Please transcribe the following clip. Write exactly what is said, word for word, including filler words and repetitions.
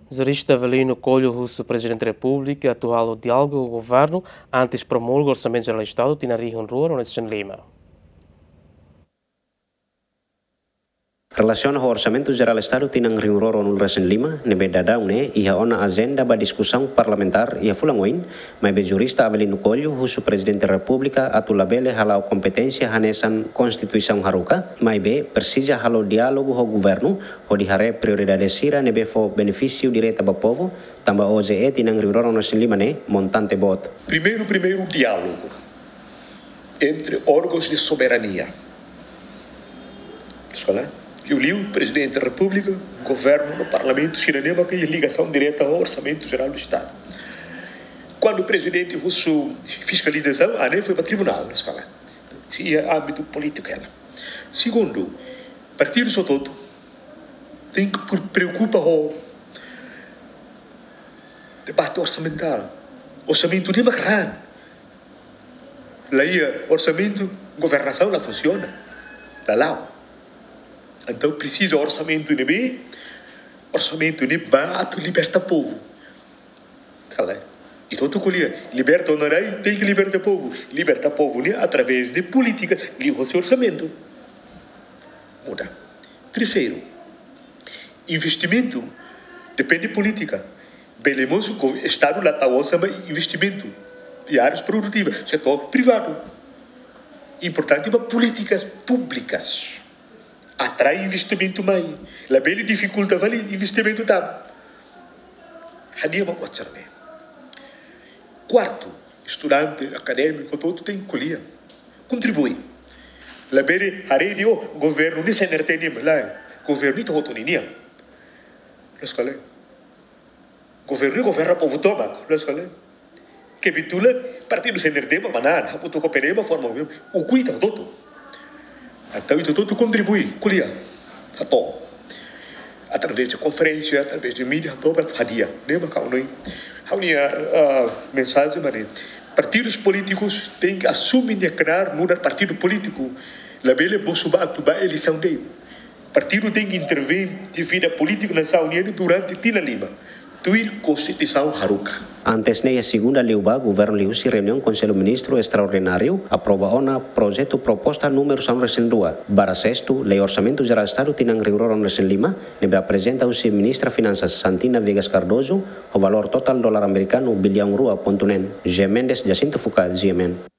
Jurista Avelino Coelho husu Prezidente Repúblika atu halo diálogu ho governu antes promulga Orsamentu Jerál Estadu tinan rihun rua ruanulu-resin-lima. Relasiona ho Orsamentu Jerál Estadu tinan rihun rua ruanulu-resin-lima, ne'ebé daudaun ne'e iha ona ajenda ba diskusaun parlamentár iha fulan oin, maibé jurista Avelino Coelho husu Prezidente Repúblika atu labele hala'o kompeténsia hanesan Konstituisaun haruka, maibé presiza halo diálogu ho governu, hodi haree prioridade sira ne'ebé fó benefísiu direta ba povu, tanba O J E tinan rihun rua ruanulu-resin-lima ne'e montante boot. Primeiru, primeiru diálogu entre órgãos de soberania. Escola, liuliu Prezidente Repúblika, governu no parlamentu, sira ne'ebé iha ligasaun direta ho Orsamentu Jerál Estadu. Kuandu Prezidente husu fiskalizasaun, ah, ne'e foi ba tribunál, escola. Iha ámbitu polítiku hela. Segundu, partidu hotu-hotu tenke pre-, preokupa ho debate orsamentál. Orsamentu ne'e mak raan. La iha orsamentu, governasaun la funsiona. La la'o. Entaun presiza orsamentu ne'ebé, orsamentu ne'ebé atu liberta povu. Kala. Ita hotu ko'alia, liberta ona rai, tenke liberta povu. Liberta povu ne'e através de polítika, liuhosi orsamentu. Muda. Terseiru, investimentu depende polítika. Bele mós Estadu la tau osan ba investimentu iha áreas produtivas, setór privadu. Importante ba polítikas públikas. Atrai investimentu mai. Labele difikulta fali investimentu tan. Hadi'a mak otsar ne'e. Kuartu, estudante, akadémiku, hotu-hotu tenke ko'alia. Kontribui. Labele haree dehan, oh, governu ne'e C N R T nian, lae. Governu ita hotu-hotu nian. Loos ka lae? Governu ne'e governa povu tomak, loos ka lae? Kebetulan partidu C N R T mak manán, hamutuk ho P D M forma governu, ukun ita hotu-hotu. Entaun ita hotu-hotu kontribui, ko'alia, hato'o. Através de konferénsia, através de mídia, hato'o ba hadi'a. Ne'e mak ha'u hanoin. Ha'u-nia, ah, mensajen mak ne'e. Partidus polítikus tenke asume nia knaar nu'udar partidu polítiku. Labele mosu ba atu ba eleisaun de'it. Partidu tenke intervein iha vida polítika nasaun nian durante tinan lima. Tuir Konstituisaun haruka. Antes ne'e, iha segunda liubá, governu liuhusi reuniaun Konsellu Ministru Estraordináriu aprova ona projetu proposta númeru sanulu-resin-rua barra sestu, Lei Orsamentu Jerál Estadu tinan rihun rua ruanulu-resin-lima, ne'ebé aprezenta husi Ministra Finansas Santina Viegas Cardoso, ho valór totál dolar amerikanu biliaun rua pontu neen. G. Mendes, Jacinto Fuka, G M N.